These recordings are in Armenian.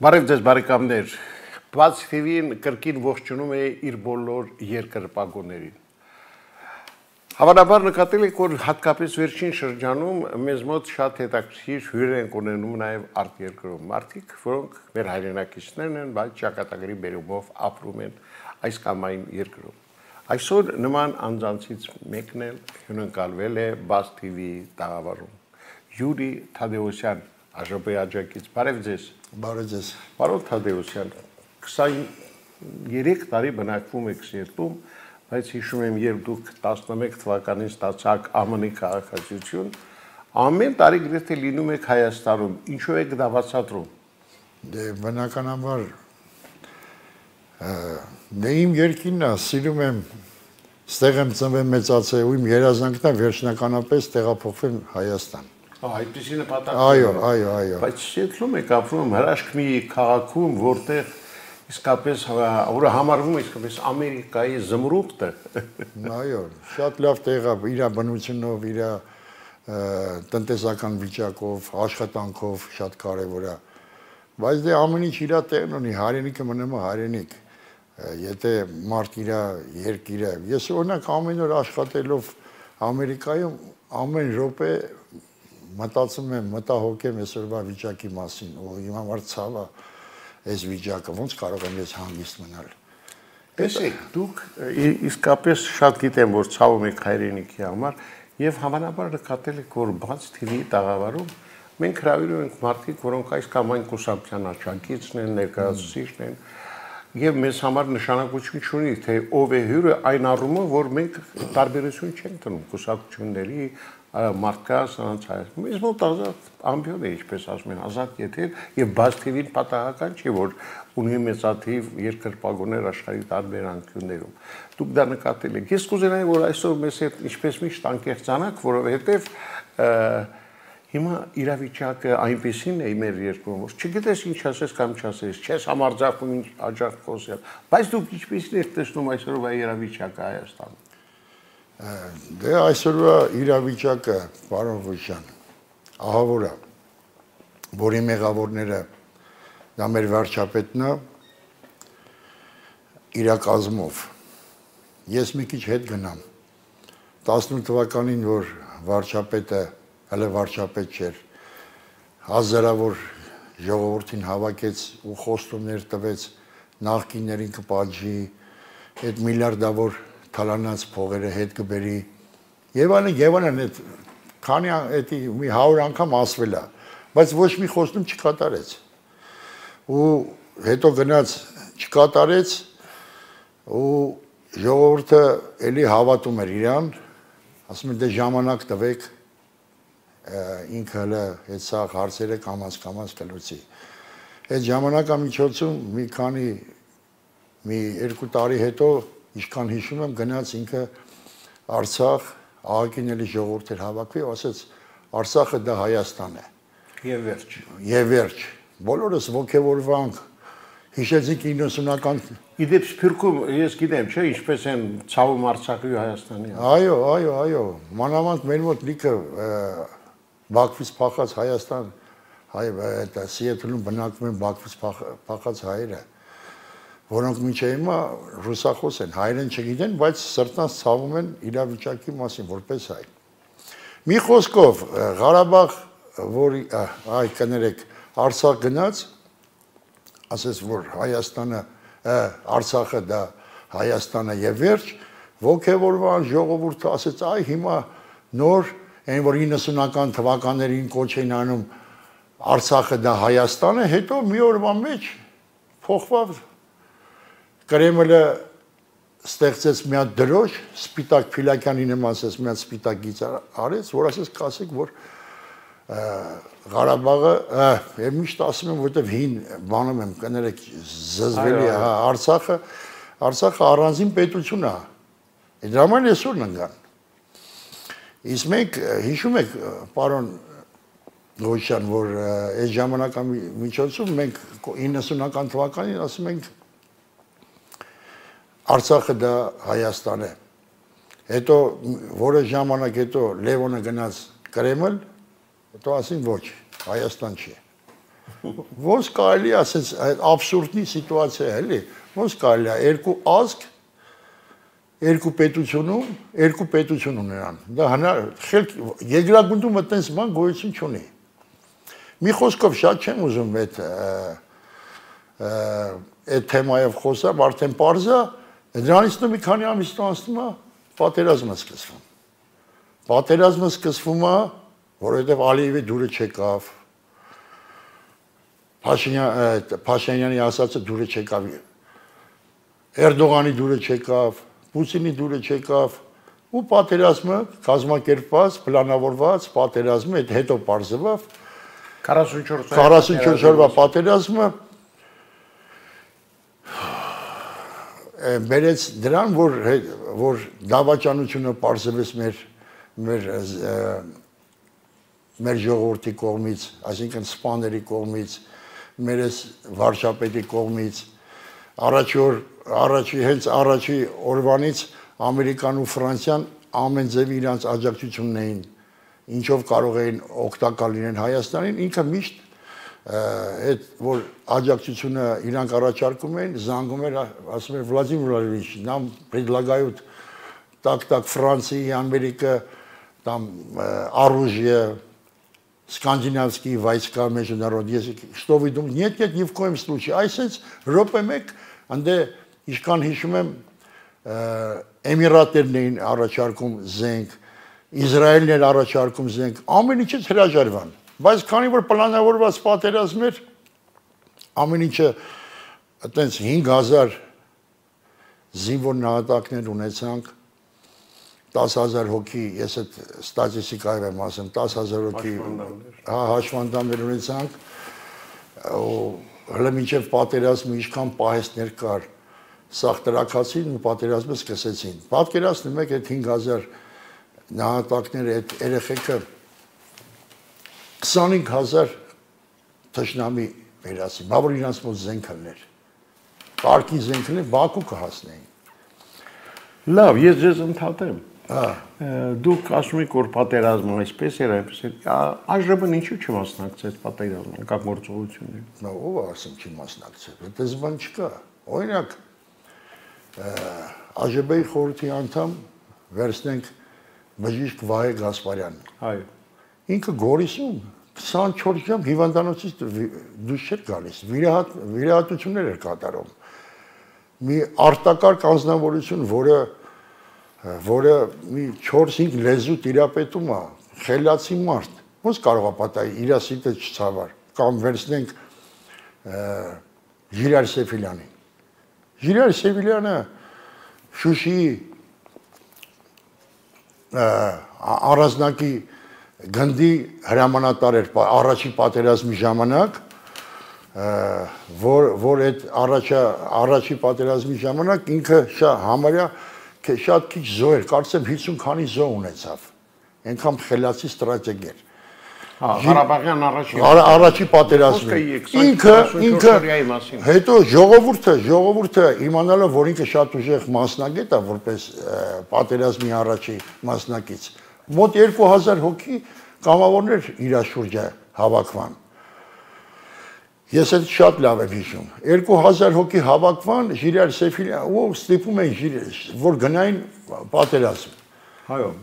Բարև ձեզ բարեկամներ, Բաց TV-ին կրկին ողջունում է իր բոլոր երկրպագուներին։ Հավանաբար նկատել եք, որ հատկապես վերջին շրջանում մեզ մոտ շատ հետաքրքիր հյուրեր են ունենում նաև արտերկրում մարդիկ, որոնք մեր հայրենակիցներն են, բայց ճակատագրի բերումով ապրում են այս կամ այն երկրում։ Այսօր նման անձանցից մեկն էլ հյուրընկալվել է Բաց TV-ի տաղավարում։ Յուրի Թադևոսյան, Ադրբեջանից, բարև ձեզ։ Բարև ձեզ։ Պարոն Թադևոսյան, 23 տարի բնակվում եք Սիեթլում, բայց հիշում եմ, երբ դուք 11 թվականին ստացաք ԱՄՆ-ի քաղաքացիություն, ամեն տարի գրեթե լինում եք Հայաստանում, ինչու եք դա բացատրում։ Դե բնականաբար դե իմ երկինն է, սիրում եմ, ստեղ եմ ծնվել մեծացել ու իմ երազանքն է վերջնականապես տեղափոխվեմ Հայաստան։ Այդպիսի նպատակ։ Այո։ Բայց Սիեթլում եք ապրում հրաշք մի քաղաքում, որտեղ իսկապես որը համարվում է իսկապես Ամերիկայի զմրուխտը։ Այո, շատ լավ տեղ է, իր բնությունով, իր տնտեսական վիճակով, աշխատանքով շատ կարևոր է։ Բայց դե ամեն ինչ իր տեղն ունի, հայրենիքը մնում է հայրենիք։ Եթե մարդ իր երկիրը, ես օրինակ ամեն օր աշխատելով Ամերիկայում ամեն րոպե մտածում եմ, մտահոգեմ այսօրվա վիճակի մասին, ու իմ համար ցավ է այս վիճակը, ոնց կարող եմ ես հանգիստ մնալ։ Տեսեք, դուք իսկապես շատ գիտեմ, որ ցավում եք հայրենիքի համար, եւ հավանաբար նկատել եք, որ Բաց TV-ի տաղավարում մենք հրավիրում ենք մարդիկ, որոնք այս կամ այն կուսակցության աջակիցն են, ներկայացուցիչն են, եւ մեզ համար նշանակություն չունի, թե ով է հյուրը այն առումով, որ մենք տարբերություն չենք տնում կուսակցությունների մարդկանց անցած մեզ մոտ ազատ ամբիոն է, ինչպես ասում են, ազատ եթեր եւ Բաց TV-ին պատահական չի, որ ունի մեծաթիվ երկրպագուներ աշխարհի տարբեր անկյուններում։ Դուք դա նկատել եք։ Ես կուզենայի, որ այսօր մեզ հետ ինչպես միշտ անկեղծանաք, որովհետեւ հիմա իրավիճակը այնպեսին է մեր երկրում, որ չգիտես ինչ ասես կամ չասես, չես համարձակվում ինչ աջակ խոսել, բայց դուք ինչպես եք տեսնում այսօրվա իրավիճակը Հայաստանում։ Դե այսօրվա իրավիճակը, պարոն Ղուշյան, ահավոր է, որի մեղավորները դա մեր վարչապետն է իր կազմով։ Ես մի քիչ հետ գնամ 18 թվականին, որ վարչապետը հələ վարչապետ չէր, հազարավոր ժողովրդին հավաքեց ու խոստումներ տվեց նախկիններին կպատժի, այդ միլիարդավոր թալանած փողերը հետ կբերի եւ այլն, այդ քանի էդի մի 100 անգամ ասվել է, բայց ոչ մի խոստում չկատարեց։ Ու հետո գնաց չկատարեց ու ժողովուրդը էլի հավատում էր իրան, ասում են դե ժամանակ տվեք, ինքը հələ այդ սաղ հարցերը կամաց կլուծի։ Այդ ժամանակամիջոցում մի 2 տարի հետո, ինչքան հիշում եմ, գնաց ինքը Արցախ, ԱԱԿ-ին էլի ժողովուրդ էր հավաքվի, ասեց Արցախը դա Հայաստան է։ Եվ վերջ։ Եվ վերջ։ Բոլորս ոգևորվանք, հիշեցինք 90-ական։ Իդեպ Սփյուռքում ես գիտեմ, չէ, ինչպես են ցավում Արցախի ու Հայաստանի։ Այո, մանավանդ մեր մոտ լիքը Բաքվից փախած Հայաստան, Սիեթլում բնակվում են Բաքվից փախած հայերը, որոնք մինչև հիմա ռուսախոս են, հայերեն չգիտեն, բայց սրտանց ցավում են իրավիճակի մասին, որպես հայ։ Մի խոսքով, Ղարաբաղ, որի կներեք, Արցախ գնաց, ասես որ Արցախը դա Հայաստանը եւ վերջ, ոգևորվան ժողովուրդը ասեց, այ հիմա նոր այն որ 90-ական թվականներին կոչ էին անում Արցախը դա Հայաստան է, հետո մի օրվա մեջ փոխվավ Կրեմլը ստեղծեց մի հատ դրոշ, Սպիտակ Փիլակյանի նման ասես մի հատ սպիտակ գիծ արեց, որ ասես կասեք, որ Ղարաբաղը, եւ միշտ ասում եմ, որտեվ հին բանում եմ, կներեք, զզվելի է, Արցախը առանձին պետություն է։ Դրա համար այսօր ընկան։ Իսկ մենք հիշում եք, պարոն Ղուշյան, որ այս ժամանակամիջոցում մենք 90-ական թվականին ասում ենք Արցախը դա Հայաստան է։ Հետո որոշ ժամանակ հետո Լևոնը գնաց Կրեմլ, հետո ասին ոչ, Հայաստան չի։ Ոնց կարելի է ասես абսուրդի սիտուացիա է, էլի։ Ոնց կարելի է երկու ազգ երկու պետություն ունենան։ Դա խելք երկրագնդում այդպես բան գոյություն չունի։ Մի խոսքով շատ չեմ ուզում այդ թեմայով խոսամ, արդեն պարզ է, դրանից մի քանի ամիս անցնում է, պատերազմը սկսվում։ Պատերազմը սկսվում է, որովհետև Ալիևի դուրը չեկավ, Փաշինյանի ասածը դուրը չեկավ, Էրդողանի դուրը չեկավ, Պուտինի դուրը չեկավ, ու պատերազմը կազմակերպված, պլանավորված պատերազմը, այդ հետո պարզվավ 44 օրվա պատերազմը բերեց դրան, որ դավաճանությունը պարզվեց մեր ժողովրդի կողմից, այսինքն սպաների կողմից, մեր վարչապետի կողմից, հենց առաջի օրվանից Ամերիկան ու Ֆրանսիան ամեն ձևի իրանց աջակցությունն էին, ինչով կարող էին օգտակար լինել Հայաստանին, ինքը միշտ այդ որ աջակցությունը իրանք առաջարկում էին, զանգում էր, ասում էր Վլադիմիր Վլադիմիրիչ, нам предлагают так Франции, Америка, там оружие, скандинавские войска международные, что вы думаете? Нет, ни в коем случае. Այսպես ռոպե մեկ անդե իշքան հիշում եմ Էմիրատներն էին առաջարկում զենք, Իսրայելն էր առաջարկում զենք, ամեն ինչից հրաժարվան, բայց քանի որ պլանավորված պատերազմ էր, ամեն ինչը այտենց 5000 զինվոր նահատակներ ունեցանք, 10000 հոգի, ես այդ ստատիստիկայով եմ ասում, 10000 հոգի հաշվանդամներ ունեցանք, հələ մինչև պատերազմը ինչքան պահեստներ կար, սաղ տրակացին ու պատերազմը սկսեցին։ Պատկերացնում եք այդ 5000 նահատակները, այդ երեխեքը 25000 թշնամի վերացին, բա որ իրանց մոտ զենք լներ, կարգի զենք լներ, Բաքու կհասնեին։ Լավ, ես ձեզ ընդհատեմ։ Դուք ասում եք, որ պատերազմը այսպես էր, այնպես էր, այժմ ինչու չմասնակցեց պատերազմին, կա գործողություններին։ Նա ով ասում չի մասնակցել, այդպես բան չկա։ Օրինակ, ԱԺԲ-ի խորհրդի անդամ վերցնենք բժիշկ Վահե Գասպարյանն։ Այո։ Ինքը Գորիսում 24 ժամ հիվանդանոցից դուրս չէր գալիս, վիրահատություններ էր կատարում։ Մի արտակարգ անձնավորություն, որը մի 4-5 լեզու տիրապետում է, խելացի մարդ, ոնց կարող է պատահի, իր սիտը չցավար, կամ վերցնենք Ժիրայր Սեֆիլյանին։ Ժիրայր Սեֆիլյանը Շուշիի առանձնակի գնդի հրամանատար էր առաջի պատերազմի ժամանակ, որ այդ առաջի պատերազմի ժամանակ ինքը համարյա շատ քիչ զոհ էր, կարծեմ 50 քանի զոհ ունեցավ, այնքան խելացի ստրատեգ էր։ Ղարաբաղյան առաջի պատերազմը ինքը հետո ժողովուրդը իմանալով որ ինքը շատ ուժեղ մասնագետ է որպես պատերազմի առաջի մասնակից մոտ 2000 հոգի կամավորներ իր շուրջը հավաքվան ես այդ շատ լավ եմ հիշում 2000 հոգի հավաքվան Ժիրայր Սեֆիլյան ու ստիպում էին որ գնային պատերազմ այո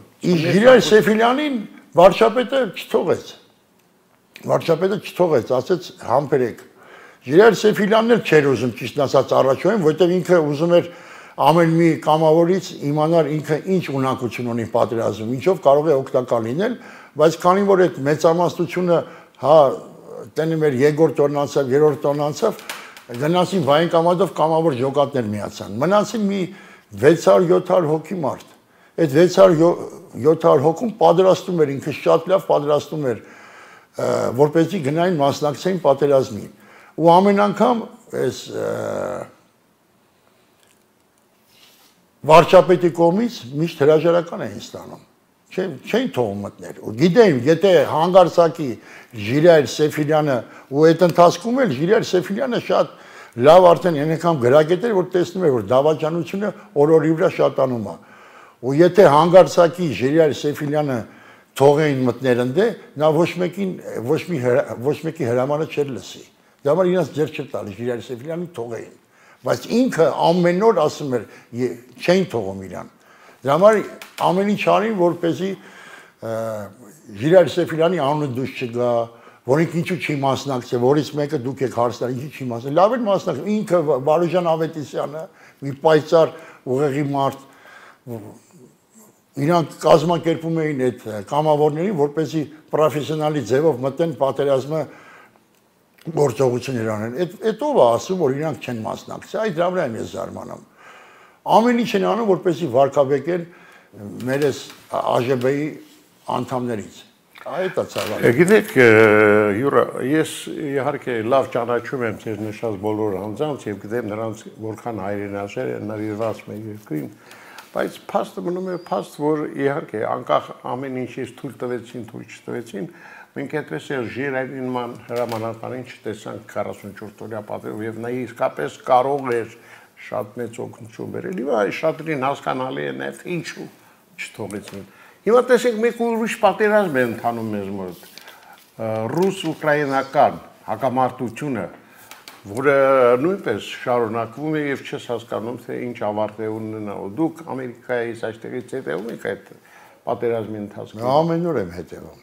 Ժիրայր Սեֆիլյանին վարչապետը չթողեց, ասեց համբերեք։ Ժիրայր Սեֆիլյանն էլ չէր ուզում ճիշտ ասած առաջոյին, որտեղ ինքը ուզում էր ամեն մի կամավորից իմանալ ինքը ինչ ունակություն ունի պատերազմում, ինչով կարող է օգտակար լինել, բայց քանի որ այդ մեծամասնությունը, հա, տենը մեր երկրորդ տոնն անցավ, երրորդ տոնն անցավ, գնացին վայնկամատով կամավոր ջոկատներ միացան։ Մնացին մի 600-700 հոգի մարդ։ Այդ 600-700 հոգում պատրաստում էր ինքը շատ լավ պատրաստում էր որպեսզի գնային մասնակցեին պատերազմին ու ամեն անգամ այս վարչապետի կողմից միշտ հրաժարական էին ստանում չէին թողում մտներ ու գիտեին եթե հանգարցակի Ժիրայր Սեֆիլյանը ու այդ ընթացքում էլ Ժիրայր Սեֆիլյանը շատ լավ արդեն անգամ գրագետ էր որ տեսնում էր որ դավաճանությունը օր-օրի վրա շատանում է ու եթե հանգարցակի Ժիրայր Սեֆիլյանը թողեին մտներ ընդե, նա ոչ մեկի հրամանը չէր լսի։ Դա համար իրենց ձեռք չէր տալիս Ժիրայր Սեֆիլյանին թողեին, բայց ինքը ամեն օր ասում էր չէին թողում իրան։ Դա համար ամեն ինչ արին, որպեսզի Ժիրայր Սեֆիլյանի անունը դուրս չգա, որինք ինչու չի մասնակցել, որից մեկը դուք եք հարցնել, ինչու չի մասնակցել, լավ էր մասնակցել, ինքը Վարուժան Ավետիսյանը, մի պայծառ ուղեղի մարդ, իրանք կազմակերպում էին այդ կամավորներին, որպեսզի պրոֆեսիոնալի ձևով մտեն պատերազմը գործողություններ անեն։ Այդ ով է ասում, որ իրանք չեն մասնակցել, այդ դրա վրա եմ ես զարմանում։ Ամեն ինչ են անում, որպեսզի վարկաբեկեն մեր ԱԺԲ-ի անդամներից։ Այդ է ցավալի։ Գիտեք, Յուրա, ես իհարկե լավ ճանաչում եմ ձեր նշած բոլոր անձանց եւ գիտեմ նրանց որքան հայրենասեր են նվիրված մեր երկրին, բայց փաստը մնում է փաստ, որ իհարկե անկախ ամեն ինչից թույլ տվեցին, թույլ չտվեցին, մենք այդպես էլ Ժիրայրին հրամանատարին չտեսանք 44 օրյա պատերով եւ նա իսկապես կարող էր շատ մեծ օգնություն բերել։ Եվ շատերին հասկանալի է նաեւ ինչու չթողեցին։ Հիմա տեսեք մեկ ուրիշ պատերազմ է ընթանում մեզ մոտ, ռուս-ուկրաինական հակամարտությունը, որը նույնպես շարունակվում է եւ չես հասկանում, թե ինչ ավարտ է ունենա։ Դուք Ամերիկայից այստեղից հետևում եք այդ պատերազմի ընթացքում։ Ամեն օր եմ հետևում։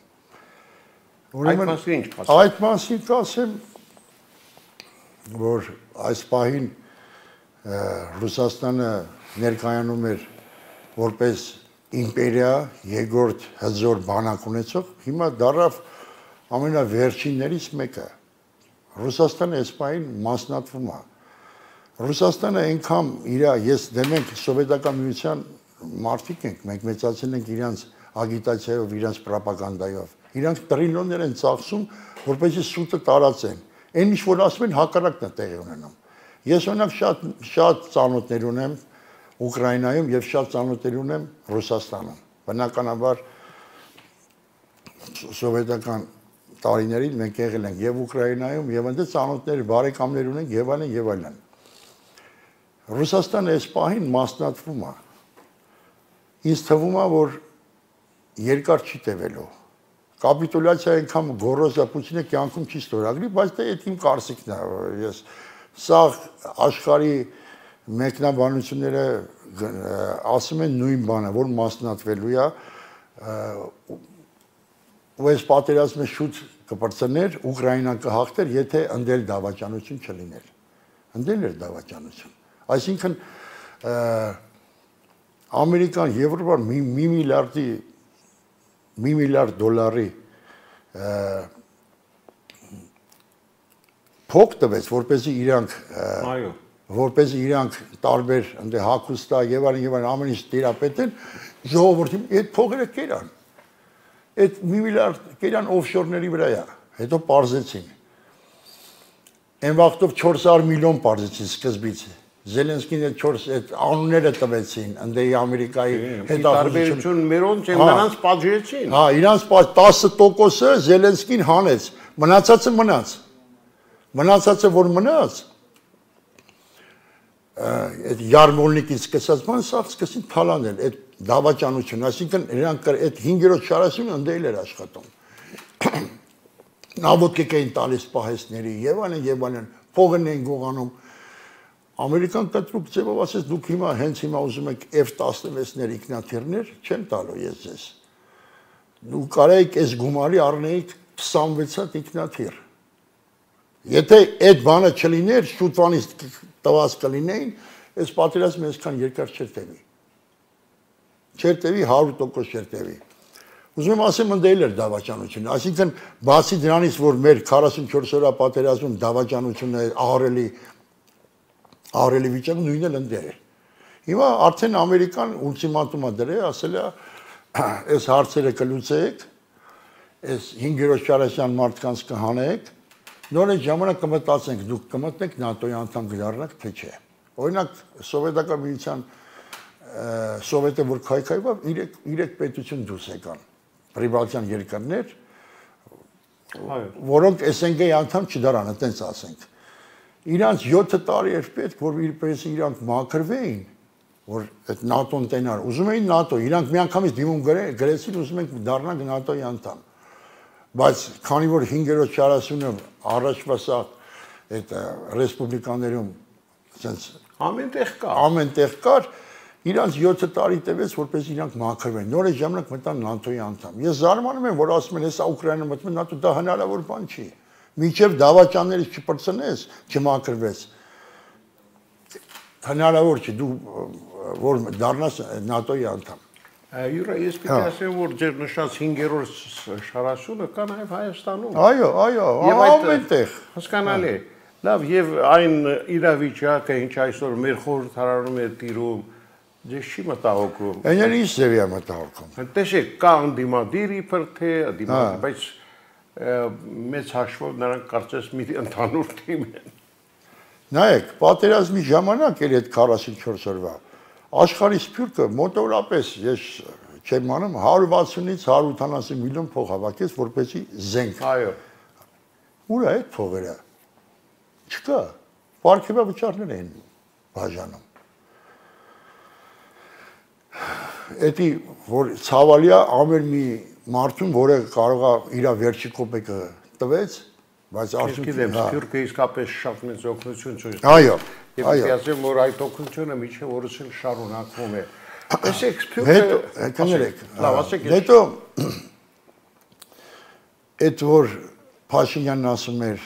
Այդ մասին ինչ կասեք։ Այդ մասին կասեմ, որ այս պահին Ռուսաստանը ներկայանում էր որպես իմպերիա, երկրորդ հզոր բանակ ունեցող, հիմա դառավ ամենավերջիններից մեկը։ Ռուսաստանը այս պահին մասնատվում է։ Ռուսաստանը այնքան ես դեմ ենք սովետական միության մարդիկ ենք, մենք մեծացել ենք իրանց ագիտացիայով, իրանց պրոպագանդայով։ Իրանք տրիլիոններ են ծախսում, որպեսզի սուտը տարածեն։ Այն ինչ որ ասում են, հակառակն է տեղի ունենում։ Ես օրինակ շատ ծանոթներ ունեմ Ուկրաինայում եւ շատ ծանոթներ ունեմ Ռուսաստանում։ Բնականաբար սովետական տարիներին մենք եղել ենք եւ Ուկրաինայում եւ այնտեղ ծանոթներ, բարեկամներ ունենք եւ այլն եւ այլն։ Ռուսաստանը այս պահին մասնատվում է։ Ինձ թվում է, որ երկար չի տևելու։ Կապիտուլյացիա այնքան գոռոզ է Պուտինը կյանքում չի ստորագրի, բայց դա այդ իմ կարծիքն է։ Ես սա աշխարհի մեկնաբանությունները ասում են նույն բանը, որ մասնատվելու է, ու այս պատերազմը շուտ կպրծներ, Ուկրաինան կհաղթեր, եթե ընդել դավաճանություն չլիներ։ Ընդել էր դավաճանություն։ Այսինքն Ամերիկան Եվրոպան մի միլիարդ դոլարի փոք տվեց, որպեսզի իրանք տարբեր ընդ հագուստա եւ այլն ամեն ինչ տիրապետեն, ժողովրդին այդ փողերը կերան։ Այդ մի միլիարդ կերան օֆշորների վրա է, հետո պարզեցին։ Այն վաղտով 400 միլիոն պարզեցին սկզբից։ Զելենսկին այդ անունները տվեցին, ընդեի Ամերիկայի հետախուզություն մերոնց են նրանց պատժեցին։ Հա, իրանց 10%-ը Զելենսկին հանեց, մնացածը մնաց։ Մնացածը որ մնաց, այդ Յարմոլնիկից սկսած բան սա սկսին թալանել, այդ դավաճանություն, այսինքն իրանք այդ 5-րդ շարասյունը ընդել էր աշխատում։ Նավոտիկ էին տալիս պահեսների եւ այլն, փողն էին գողանում։ Ամերիկան կտրուկ ձևով ասեց դուք հիմա հենց հիմա ուզում եք F-16-ներ ինքնաթիռներ, չեմ տալու ես ձեզ։ Դուք կարայիք այս գումարի առնեիք 26 հատ ինքնաթիռ։ Եթե այդ բանը չլիներ, շուտվանից տված կլինեին, այս պատերազմը այսքան երկար չէր տևի։ Չէր տևի 100% չէր տևի։ Ուզում եմ ասեմ ընդել էր դավաճանությունը, այսինքն բացի դրանից, որ մեր 44 օրյա պատերազմում դավաճանությունը ահռելի վիճակը նույնն էլ ընդեր է։ Հիմա արդեն Ամերիկան ուլտիմատում է դրել, ասել է այս հարցերը կլուծեք, այս 5-րդ շարասյան մարդկանց կհանեք, նոր այդ ժամանակ կմտածենք, դուք կմտնեք ՆԱՏՕ-ի անդամ կդառնաք, թե չէ։ Օրինակ սովետական միության սովետը որ քայքայվավ 3 պետություն դուրս եկան։ Պրիբալտյան երկրներ, որոնք SNG-ի անդամ չդառան, այտենց ասենք։ Իրանց 7 տարի էր պետք, որ իրպես իրանք մաքրվեին, որ այդ ՆԱՏՕ-ն տենար, ուզում էին ՆԱՏՕ, իրանք միանգամից դիմում գրեցին, ուզում ենք դառնանք ՆԱՏՕ-ի անդամ։ Բայց քանի որ 5-րդ 40-ը առաջվա սա այդ ռեսպուբլիկաներում sense ամենտեղ կար, իրանք 7 տարի տևեց, որպես իրանք մաքրվեն։ Նոր այդ ժամանակ մտան ՆԱՏՕ-ի անդամ։ Ես զարմանում եմ, որ ասում են, հեսա Ուկրաինան մտնում ՆԱՏՕ, դա հնարավոր բան չի։ Մինչև դավաճաններից չպրծնես, չմաքրվես։ Հնարավոր չի դու որ դառնաս ՆԱՏՕ-ի անդամ։ Յուրա, ես պիտի ասեմ, որ ձեր նշած 5-րդ շարաշունը կա նաև Հայաստանում։ Այո, ամենտեղ։ Հասկանալի է։ Լավ, եւ այն իրավիճակը, ինչ այսօր մեր խորհրդարանում է տիրում, ձեզ չի մտահոգում։ Այնն ինչ ձևի է մտահոգում։ Տեսեք, կա անդիմադիր իբր թե անդիմադիր, բայց մեծ հաշվով նրանք կարծես մի ընդհանուր թիմ են։ Նայեք, պատերազմի ժամանակ էր այդ 44 օրվա աշխարհի սփյուռքը մոտավորապես ես չեմ անում 160-ից 180 միլիոն փող հավաքեց որպեսզի զենք։ Այո։ Ուր է այդ փողերը։ Չկա։ Պարգևա վճարներ են բաժանում։ Էդի որ ցավալիա ամեն մի մարդուն, որը կարող է իր վերջի կոպեկը տվեց, բայց արդյունքում սփյուռքը իսկապես շատ մեծ օգնություն ցույց տվեց։ Այո։ Եվ ասեմ, որ այդ օգնությունը միջև օրս էլ շարունակվում է։ Տեսեք, սփյուռքը կներեք։ Լավ, ասեք։ Հետո այդ որ Փաշինյանն ասում էր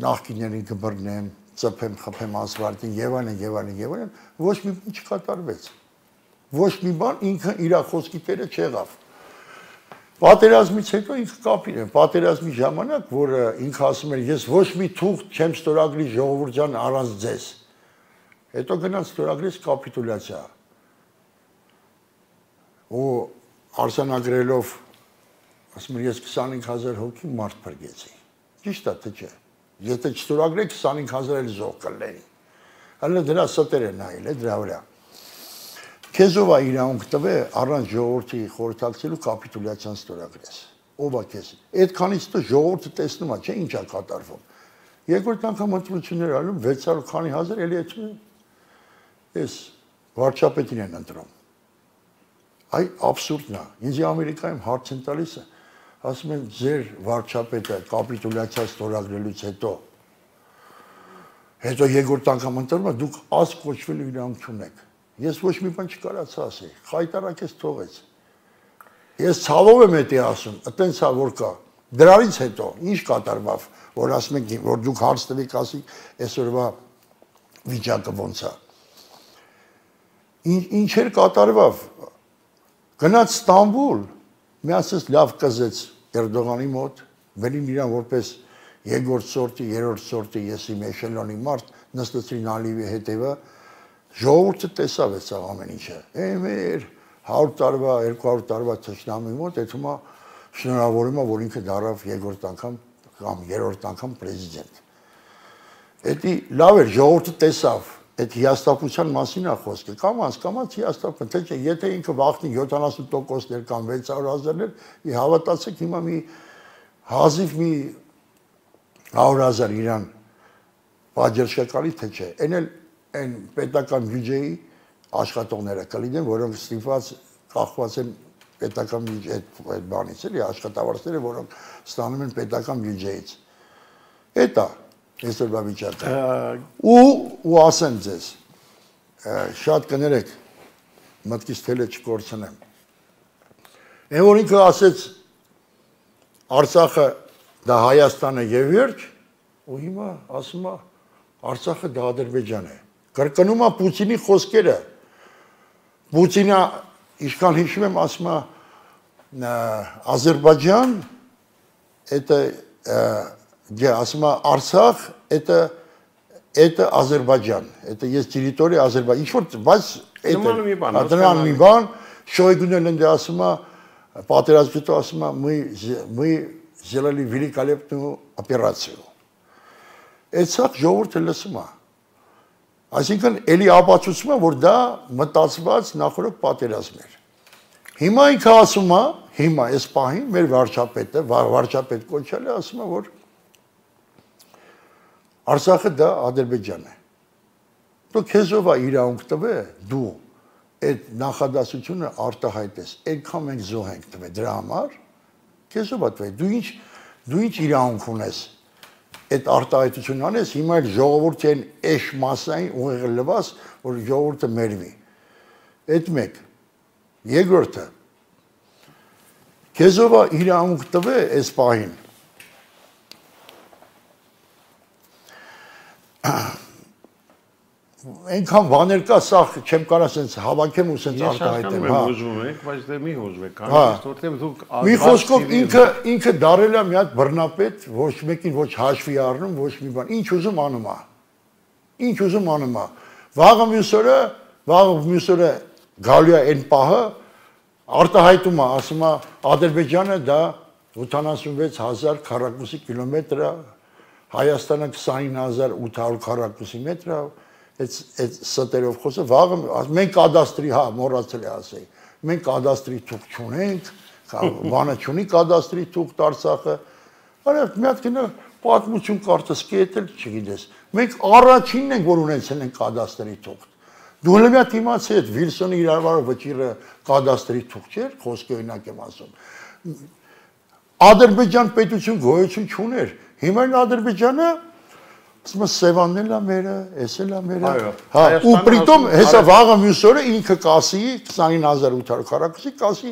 նախկիններին կբռնեմ, ծփեմ, խփեմ ասֆալտին եւ այլն, ոչ մի բան չկատարվեց։ Ոչ մի բան ինքը իր խոսքի տերը չեղավ։ Պատերազմից հետո ինքը կապին է, պատերազմի ժամանակ, որ ինքը ասում էր, ես ոչ մի թուղթ չեմ ստորագրի ժողովուրդ ջան առանց ձեզ։ Հետո գնաց ստորագրեց կապիտուլյացիա։ Ու արձանագրելով, ասում էր, ես 25000 հոգի մարդ փրկեցի։ Ճիշտ է, թե չէ։ Եթե չստորագրեք 25000 էլ զոհ կլինի։ Հələ դրա ստեր է նայել, դրա վրա։ Քեզով է իրավունք տվե առանց ժողովրդի խորհրդակցելու կապիտուլյացիան ստորագրես։ Ով է քեզ։ Այդքանից հետո ժողովուրդը տեսնում է, չէ՞ ինչ է կատարվում։ Երկրորդ անգամ ընտրություններ անում 600 քանի հազար էլի այս վարչապետին են ընտրում։ Այ աբսուրդն է։ Ինձ Ամերիկայում հարց են տալիս, ասում են ձեր վարչապետը կապիտուլյացիա ստորագրելուց հետո երկրորդ անգամ ընտրում է, դուք ազգ կոչվելու իրավունք չունեք։ Ես ոչ մի բան չկարացա ասել, խայտարակես թողեց։ Ես ցավով եմ էդի ասում, այտենց է որ կա։ Դրանից հետո ինչ կատարվավ, որ ասում եք, որ դուք հարց տվեք ասիք, այսօրվա վիճակը ոնց է։ Ինչեր կատարվավ։ Գնաց Ստամբուլ, միացած լավ կզեց Էրդողանի մոտ, վերին իրան որպես երկրորդ սորտի, երրորդ սորտի, եսի մեշելոնի մարդ, նստեցրին Ալիևի հետևը, ժողովուրդը տեսավ այդ ամեն ինչը։ Մեր 100 տարվա, 200 տարվա թշնամի մոտ այդում է շնորհավորում է, որ ինքը դառավ երկրորդ անգամ կամ երրորդ անգամ prezident։ Էդի լավ էր, ժողովուրդը տեսավ, այդ հիաստապության մասին է խոսքը։ Կամաց հիաստապն, թե չէ, եթե ինքը վախնի 70%-ներ կամ 600,000-ներ, հավատացեք հիմա մի հազիվ մի 100,000 իրան բաժերշկալի թե չէ։ Այն պետական բյուջեի աշխատողները կլինեն, որոնք ստիպված կախված են պետական այդ բանից, էլի աշխատավարձերը, որոնք ստանում են պետական բյուջեից։ Էտա այսօրվա վիճակը։ Ու ասեմ ձեզ, շատ կներեք, մտքից թելը չկորցնեմ։ Այն որ ինքը ասեց Արցախը դա Հայաստանը եւ վերջ, ու հիմա ասում է Արցախը դա Ադրբեջան է։ Կրկնում է Պուտինի խոսքերը։ Պուտինը ինչքան հիշում եմ ասում է Ադրբեջան это ասում է Արցախ это Ադրբեջան, это есть территория Ադրբեջան։ Ինչ որ բայց это մի բան, Շոյգուն էլ ընդ ասում է պատերազմից հետո ասում է мы сделали великолепную операцию։ Այդ ժողովուրդը լսում է։ Այսինքն էլի ապացուցում է, որ դա մտածված նախորդ պատերազմ էր։ Հիմա ինքը ասում է, հիմա այս պահին մեր վարչապետը, վարչապետ կոչել է, ասում է, որ Արցախը դա Ադրբեջան է։ Դու քեզով է իրավունք տվե, դու այդ նախադասությունը արտահայտես, այդքան մենք զոհ ենք տվել դրա համար, քեզ ով է տվել, դու ինչ իրավունք ունես այդ արտահայտությունն անես, հիմա էլ ժողովուրդի են էշ մասային ուղեղը լվաս, որ ժողովուրդը մերվի։ Այդ մեկ։ Երկրորդը, քեզ ով է իրավունք տվել այս պահին։ Այնքան բաներ կա, սա չեմ կարող ասենց հավաքեմ ու ասենց արտահայտեմ, հա։ Ես ուզում եմ, բայց դե մի հուզվեք, որտեղ դուք մի խոսքով ինքը դարել է մի հատ բռնապետ, ոչ մեկին ոչ հաշվի առնում, ոչ մի բան, ինչ ուզում անում է։ Ինչ ուզում անում է։ Վաղը մյուս օրը գալու է այն պահը, արտահայտում է, ասում է Ադրբեջանը դա 76000 քառակուսի կիլոմետր է, Հայաստանը 29800 քառակուսի մետր է, այդ ստերով խոսը, վաղը մենք կադաստրի, հա, մոռացել է ասեի, մենք կադաստրի թուղթ չունենք, բանը չունի կադաստրի թուղթ Արցախը, արև մի հատ կինը պատմություն կարծես կետել չգիտես, մենք առաջինն ենք, որ ունեցել ենք կադաստրի թուղթ, դու հենց մի հատ իմացի այդ Վիլսոնի իրավարով վճիրը կադաստրի թուղթ չէր, խոսքը օրինակ եմ ասում, Ադրբեջան պետություն գոյություն չուներ, հիմա Ադրբեջանը ասում Սևանն էլ է մերը, էս էլ է մերը, հա, ու պրիտոմ հեսա վաղը մյուս օրը ինքը կասի 29800 քառակուսի կասի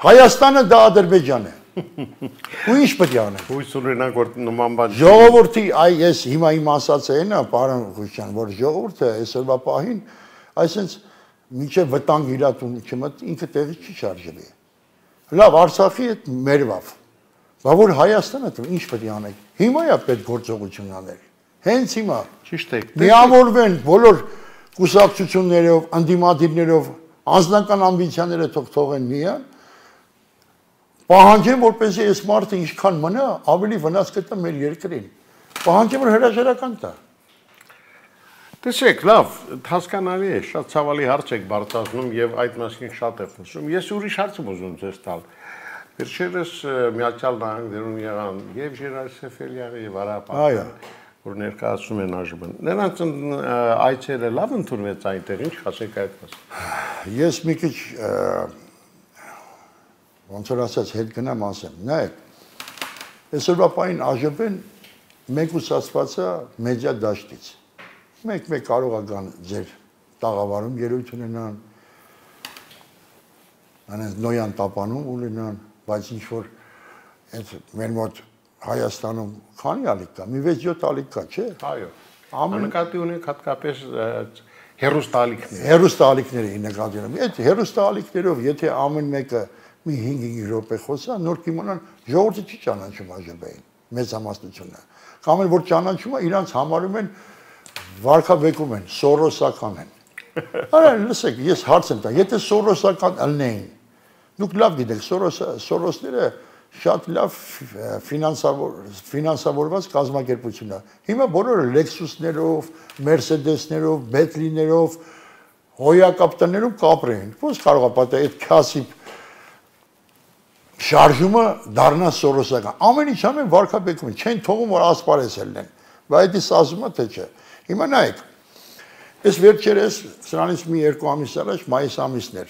Հայաստանը դա Ադրբեջան է։ Ու ինչ պետք է անենք։ Հույս ունենանք որ նման բան։ Ժողովրդի այ ես հիմա իմ ասածը այն է, պարոն Խուշյան, որ ժողովուրդը այսօրվա պահին այսինքն մինչև վտանգ իրատուն չմտ ինքը տեղի չի շարժվի։ Լավ, Արցախի հետ մերվավ։ Բա որ Հայաստանը ինչ պետք է անենք։ Հիմա է պետք գործողություն անել։ Հենց հիմա։ Ճիշտ է։ Միավորվեն բոլոր կուսակցություններով, անդիմադիրներով, անձնական ամբիցիաները թողեն միան։ Պահանջեն, որպեսզի այս մարդը ինչքան մնա, ավելի վնաս կտա մեր երկրին։ Պահանջեն, որ հրաժարական տա։ Տեսեք, լավ, հասկանալի է, շատ ցավալի հարց եք բարձրացնում եւ այդ մասին շատ է խոսում։ Ես ուրիշ հարց եմ ուզում ձեզ տալ։ Վերջերս Միացյալ Նահանգներում եղան եւ Ժիրայր Սեֆելյանը եւ Արա Պապյանը, որ ներկայացնում են ԱԺԲ-ն։ Նրանց այցերը լավ ընդունվեց այնտեղ, ինչ ասեք այդ մասին։ Ես մի քիչ ոնց որ ասած հետ գնամ ասեմ, նայեք, այսօրվա պահին ԱԺԲ-ն մեկուսացված է մեդիա դաշտից։ Մեկ կարող է գան ձեր տաղավարում ելույթ ունենան, անենց նոյան տապանում ունենան, բայց ինչ որ մեր մոտ Հայաստանում քանի ալիք կա, մի 6-7 ալիք կա, չէ։ Այո։ Նկատի ունենք հատկապես հերոստալիքներ։ Հերոստալիքների նկատի ունեմ։ Այդ հերոստալիքներով, եթե ամեն մեկը մի 5 րոպե խոսա, նոր կիմանան ժողովուրդը չի ճանաչում ԱԺԲ-ին, մեծամասնությունը։ Կամ որ ճանաչում է, իրանց համարում են վարկաբեկում են, սորոսական են։ Արա լսեք, ես հարց եմ տա, եթե սորոսական ըլնեին, դուք լավ գիտեք, սորոսները շատ լավ ֆինանսավորված կազմակերպություն է։ Հիմա բոլորը Lexus-ներով, Mercedes-ներով, Bentley-ներով, հոյակապտաներով կապրեն։ Ոնց կարող է պատահել այդ քասիպ շարժումը դառնա սորոսական։ Ամեն ինչ ամեն վարկաբեկում են, չեն թողում որ ասպարեզ ելնեն։ Բայց դից ասում է թե չէ։ Հիմա նայեք, այս վերջերս սրանից մի 2 ամիս առաջ մայիս ամիսն էր։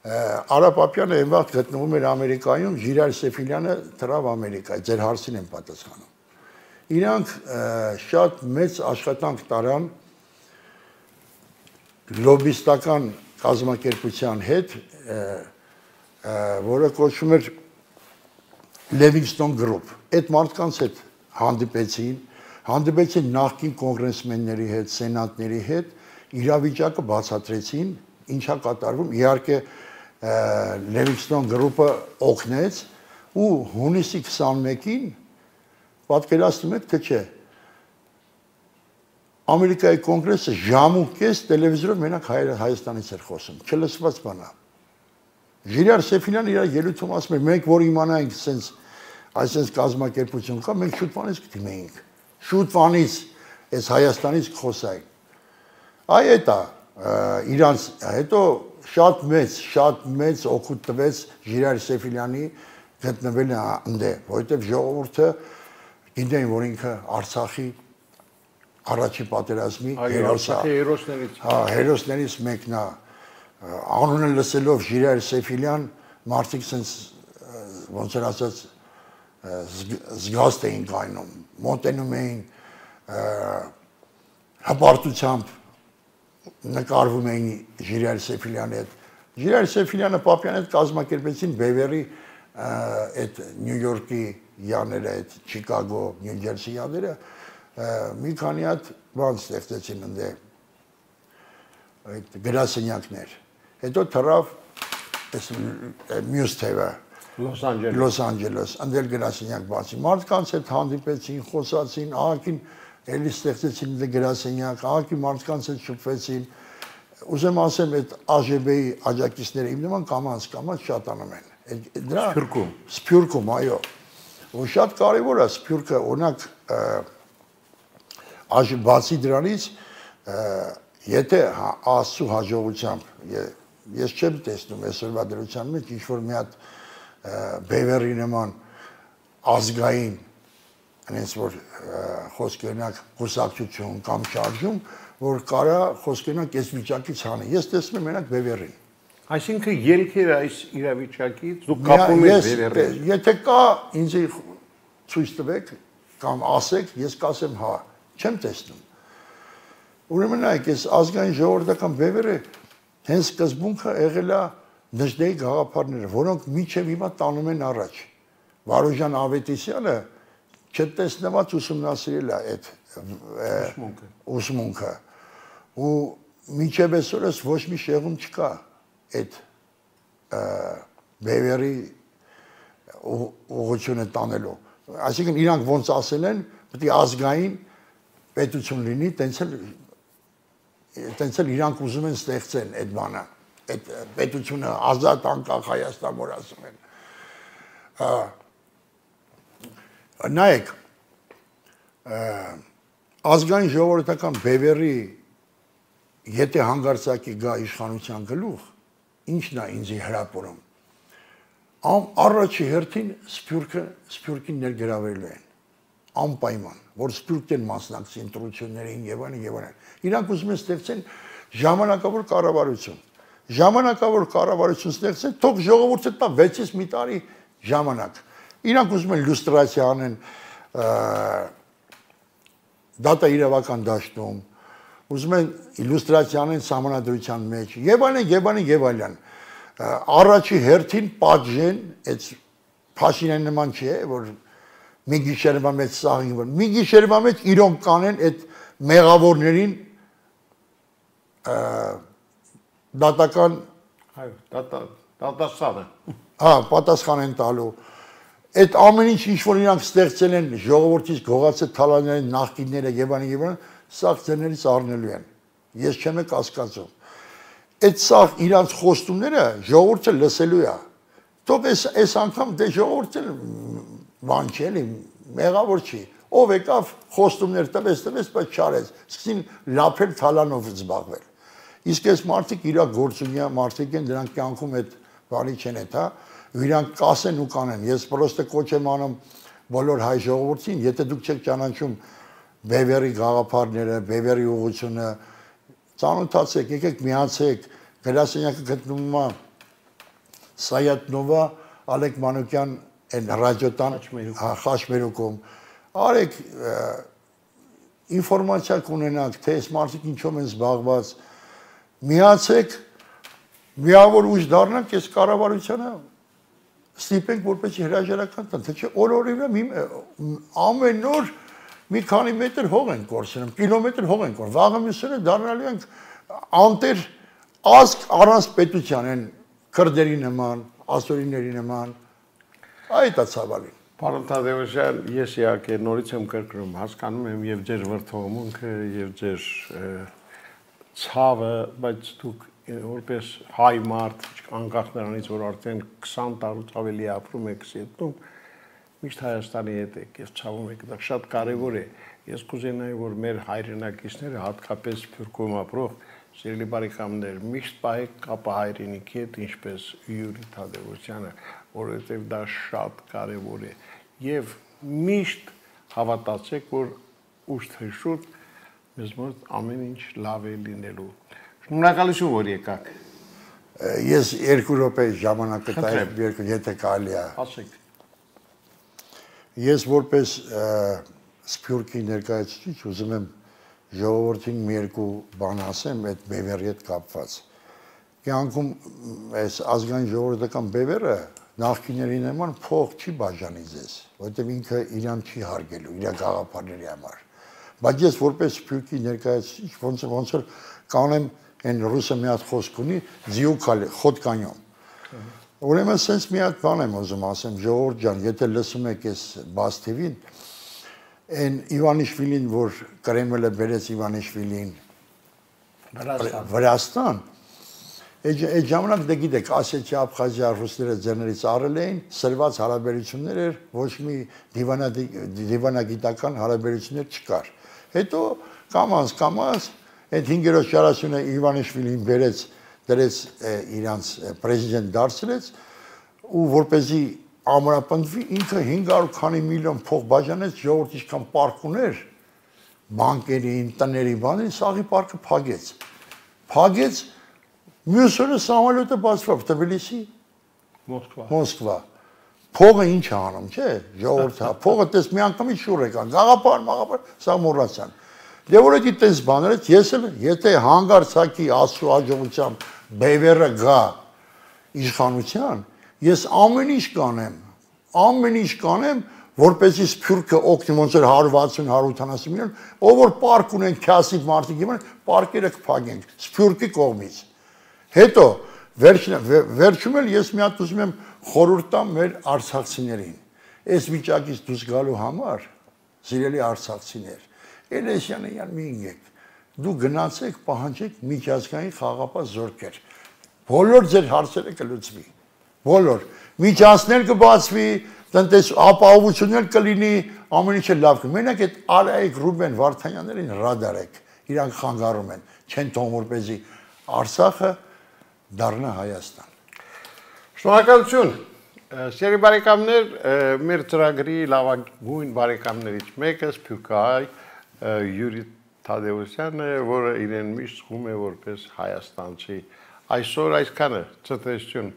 Արա Պապյանը այն վաղ գտնվում էր Ամերիկայում, Ժիրայր Սեֆիլյանը թռավ Ամերիկա, ձեր հարցին եմ պատասխանում։ Իրանք շատ մեծ աշխատանք տարան լոբիստական կազմակերպության հետ, որը կոչվում էր Livingston Group։ Այդ մարդկանց հետ հանդիպեցին նախկին կոնգրեսմենների հետ, սենատների հետ, իրավիճակը բացատրեցին, ինչա կատարվում, իհարկե Livingston Group-ը օգնեց ու հունիսի 21-ին պատկերացնում եք թե չէ Ամերիկայի կոնգրեսը ժամուկես տելևիզորով մենակ Հայաստանից էր խոսում, չլսված բան է։ Ժիրայր Սեֆիլյանը իր ելույթում ասում էր, մենք որ իմանայինք այսպես կազմակերպություն կա, մենք շուտվանից կդիմեինք։ Շուտվանից այս Հայաստանից խոսային։ Այ էտա իրանց հետո շատ մեծ օգուտ տվեց Ժիրայր Սեֆիլյանի գտնվել այնտե, որովհետև ժողովուրդը գիտեն, որ ինքը Արցախի առաջի պատերազմի հերոսներից մեկն է, անունը լսելով Ժիրայր Սեֆիլյան մարդիկ sense ոնց որ ասած զգաստ էին կայնում, մոտենում էին հպարտությամբ նկարվում էին Ժիրայր Սեֆիլյանի հետ։ Ժիրայր Սեֆիլյանը Պապյանի հետ կազմակերպեցին Բևերի այդ Նյու Յորքի յաները, այդ Չիկագո, Նյու Ջերսի յաները մի քանի հատ բան ստեղծեցին ընդ այդ գրասենյակներ։ Հետո թռավ այս մյուս թևը Լոս Անջելես, ընդել գրասենյակ բացի։ Մարդկանց հետ հանդիպեցին, խոսացին, ահագին էլի ստեղծեցին գրասենյակ, ահագին մարդկանց հետ շփվեցին։ Ուզեմ ասեմ, այդ ԱԺԲ-ի աջակիցները իմ նման կամաց շատանում են։ Դրա Սփյուռքում, այո։ Ու շատ կարևոր է Սփյուռքը, օրինակ բացի դրանից, եթե Աստծո հաջողությամբ ես չեմ տեսնում այսօրվա դրության մեջ ինչ-որ մի հատ Բևերի նման ազգային այնպես որ խոսք օրինակ կուսակցություն կամ շարժում, որ կարա խոսք օրինակ այս վիճակից հանի։ Ես տեսնում եմ մենակ Բևերին։ Այսինքն ելքերը այս իրավիճակից դուք կապում եք Բևերին։ Եթե կա ինձ ցույց տվեք կամ ասեք, ես կասեմ հա, չեմ տեսնում։ Ուրեմն այ այս ազգային ժողովրդական Բևերը հենց սկզբունքը եղել է Նժդեի գաղափարները, որոնք միջև հիմա տանում են առաջ։ Վարուժան Ավետիսյանը չտեսնված ուսումնասիրել է այդ ուսմունքը։ Ու միջև այսօրս ոչ մի շեղում չկա այդ Բևերի ուղղությունը տանելու։ Այսինքն իրանք ոնց ասել են, պետք է ազգային պետություն լինի, տենց էլ իրանք ուզում են ստեղծեն այդ բանը, այդ պետությունը ազատ անկախ Հայաստան որ ասում են։ Նայեք, ազգային ժողովրդական Բևերի եթե հանգարցակի գա իշխանության գլուխ, ինչն է ինձ հրապուրում։ Առաջի հերթին Սփյուռքին ներգրավելու են, անպայման, որ Սփյուռքն մասնակցի ընտրություններին եւ այլն։ Իրանք ուզում են ստեղծեն ժամանակավոր կառավարություն։ Ժամանակավոր կառավարություն ստեղծեն, թող ժողովուրդը տա 6-ից մի տարի ժամանակ։ Իրանք ուզում են լյուստրացիա անեն դատա իրավական դաշտում, ուզում են իլյուստրացիա անեն սահմանադրության մեջ, եւ այլն։ Առաջի հերթին պատժեն, այդ Փաշինյանի նման չէ, որ մի գիշերվա մեջ սաղին, որ մի գիշերվա մեջ իրոք կանեն այդ մեղավորներին դատական դատաստանը։ Հա, պատասխան են տալու։ Այդ ամեն ինչ որ իրանք ստեղծել են ժողովրդից գողացել թալաների նախկինները եւ այլն, սա ձերներից առնելու են։ Ես չեմ կասկածում։ Այդ սա իրանք խոստումները ժողովուրդը լսելու է։ Թող այս անգամ դե ժողովուրդը բան չէ, մեղավոր չի։ Ով եկավ խոստումներ տվեց, բայց չարեց։ Սկսին լափել թալանով զբաղվել։ Իսկ այս մարդիկ իրակ գործունյա մարդիկ են, դրանք կյանքում այդ բանի չեն այդ, հա։ Իրանք կասեն ու կանեն։ Ես պրոստը կոչ եմ անում բոլոր հայ ժողովրդին, եթե դուք չեք ճանաչում Բևերի գաղափարները, Բևերի ուղղությունը, ծանոթացեք, եկեք միացեք, գրասենյակը գտնվում է Սայաթնովա, Ալեք Մանուկյան ռադիոտան Խաչմերուկում։ Արեք ինֆորմացիա կունենանք, թե այս մարդիկ ինչով են զբաղված, միացեք, միավոր ուժ դառնանք այս կառավարությանը, ստիպենք որպեսզի հրաժարական տան, թե չէ օրորիվը ամեն օր մի քանի մետր հող են կորցնում, կիլոմետր հող են կորցնում, վաղը մյուսները դառնալու ենք անտեր ազգ առանց պետության են քրդերի նման, ասորիների նման, այդ է ցավալին։ Պարոն Թադևոսյան, ես իհարկե նորից եմ կրկնում, հասկանում եմ եւ ձեր վրթովմունքը եւ ձեր ցավը, բայց դուք որպես հայ մարդ, անկախ նրանից, որ արդեն 20 տարուց ավելի ապրում եք Սիեթլում, միշտ Հայաստանի հետ եք, ես ցավում եք, դա շատ կարևոր է։ Ես կուզենայի, որ մեր հայրենակիցները, հատկապես Սփյուռքում ապրող սիրելի բարեկամներ, միշտ պահեք կապը հայրենիքի հետ, ինչպես Յուրի Թադևոսյանը, որովհետև դա շատ կարևոր է։ Եվ միշտ հավատացեք, որ ուշ թե շուտ մեզ մոտ ամեն ինչ լավ է լինելու։ Շնորհակալություն, որ եկաք։ Ես 2 րոպե ժամանակ կտայեմ, եթե կարելի է։ Ասեք։ Ես որպես Սփյուռքի ներկայացուցիչ ուզում եմ ժողովրդին մի երկու բան ասեմ այդ բևեռի հետ կապված։ Կյանքում այս ազգային ժողովրդական բևեռը նախկիների նման փող չի բաժանի ձեզ, որովհետև ինքը իրան չի հարգելու, իր գաղափարների համար։ Բայց ես որպես Սփյուռքի ներկայացուցիչ ոնց որ կանեմ այն ռուսը մի հատ խոսք ունի ձիուկալի խոտկանյոմ։ Ուրեմն sense մի հատ բան եմ ուզում ասեմ ժողովուրդ ջան, եթե լսում եք այս բաց TV-ին, այն Իվանիշվիլին, որ Կրեմլը բերեց Իվանիշվիլին Վրաստան, այդ ժամանակ դե գիտեք, Ասիա, Աբխազիա ռուսները ձեռներից առել էին, սրված հարաբերություններ էր, ոչ մի դիվանագիտական հարաբերություններ չկար։ Հետո կամաց այդ 5-րդ շարասյունը Իվանիշվիլին բերեց, դրեց իրանց պրեզիդենտ դարձրեց ու որպեսզի ամրապնդվի ինքը 500 քանի միլիոն փող բաժանեց ժողովրդի ինչքան պարկ ուներ բանկերին, տների, բաների, սաղի պարկը փագեց մյուս օրը սամոլյոտը բացվավ Թբիլիսի Մոսկվա փողը ինչ է անում, չէ, ժողովուրդը փողը տես մի անգամից շուռ եկան գաղափար, սա մոռացան Դե որ էդի տես բաներից ես էլ եթե հանգարցակի աստծո հաջողությամբ բևեռը գա իշխանության, ես ամեն ինչ կանեմ, որպեսզի Սփյուռքը օգնի ոնց էր 160-180 միլիոն, ով որ պարկ ունեն քյասիվ մարդիկ իմանան, պարկերը կփակենք Սփյուռքի կողմից։ Հետո վերջում էլ ես մի հատ ուզում եմ խորհուրդ տամ մեր արցախցիներին։ Այս վիճակից դուրս գալու համար, սիրելի արցախցիներ Էլեսյանը յան մի ինգեք, դու գնացեք, պահանջեք միջազգային խաղապահ զորքեր, բոլոր ձեր հարցերը կլուծվի, բոլոր, միջանցքներ կբացվի, ապահովություններ կլինի, ամեն ինչը լավ կլինի, մենակ այդ Արայիկ Ռուբեն Վարդանյաններին ռադարեք, իրանք խանգարում են, չեն թողում որպեսզի Արցախը դառնա Հայաստան։ Շնորհակալություն, սիրելի բարեկամներ, մեր ծրագրի լավագույն բարեկամներից մեկը Սփյուռքահայ Յուրի Թադևոսյանը, որը իրեն միշտ զգում է որպես հայաստանցի։ Այսօր այսքանը, ցտեսություն։